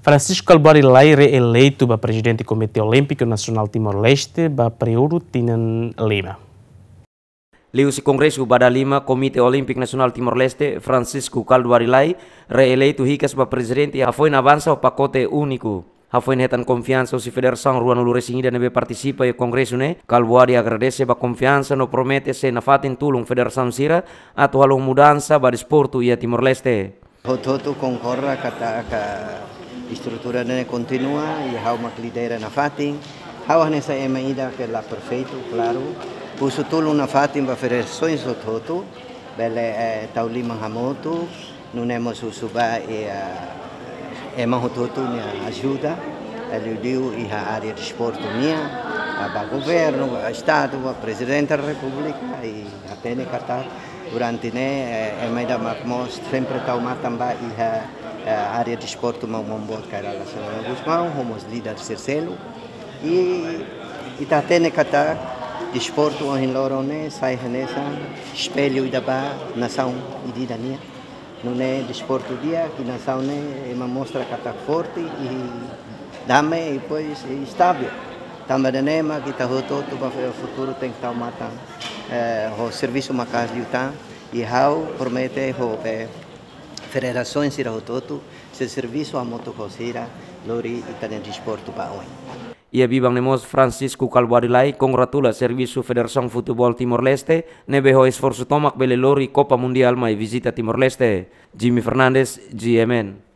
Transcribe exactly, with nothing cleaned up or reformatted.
Francisco Kalbuadi Lay reeleitu ba Prezidente Komité Olímpiku Nasionál Timor-Leste ba períodu tinan lima. Liuhusi Kongresu ba dala lima Komité Olímpiku Nasionál Timor-Leste, Francisco Kalbuadi Lay, reeleitu hikas ba Prezidente, hafoin avansa ho pakote úniku. Hafoin hetan konfiansa husi federasaun ruanulu-resin-ida ne'ebé partisipa iha kongresu ne'e, Kalbuadi agradese ba konfiansa no promete sei nafatin tulun federasaun sira atu halo mudansa ba desportu iha Timor-Leste. Hotu-hotu konkorda katak estrutura ne'e kontinua i ha'u mak lidera nafatin. Ha'u hanesan ema ida ke la perfeitu, klaru. Husu tulun nafatin ba federasaun hotu-hotu, bele, eh, tau liman hamutuk, nune'e mós husu ba, eh, ema hotu-hotu nia ajuda, eh, liuliu iha área desportu nian, eh, ba governu, ba estadu, ba Prezidente da Repúblika, i hatene katak durante ne'e, eh, ema ida mak mós sempre tau matan ba iha, eh, área desportu Maun-Boot Kay Rala Xanana Gusmão, ho mós líder sira seluk. I, i ita hatene katak desportu ohin loron ne'e sai hanesan espellu ida ba nasaun ida-idak nian. Nune'e desportu di'ak, i nasaun ne'e ema mostra katak forte i dame i depois i estável. Tanba ida-ne'e mak ita hotu-hotu ba futuru tenke tau matan, eh, ho servisu maka'as liután, i ha'u promete ho, eh, federasaun sira hotu-hotu sei servisu hamutuk ho sira, lori ita-nia desportu ba oin. Iha biban ne'e mós Francisco Kalbuadi Lay kongratula servisu Federasaun Futeból Timor-Leste ne'ebé ho esforsu tomak bele lori Kopa Mundiál mai vizita Timor-Leste. Jimmy Fernandes, G M N.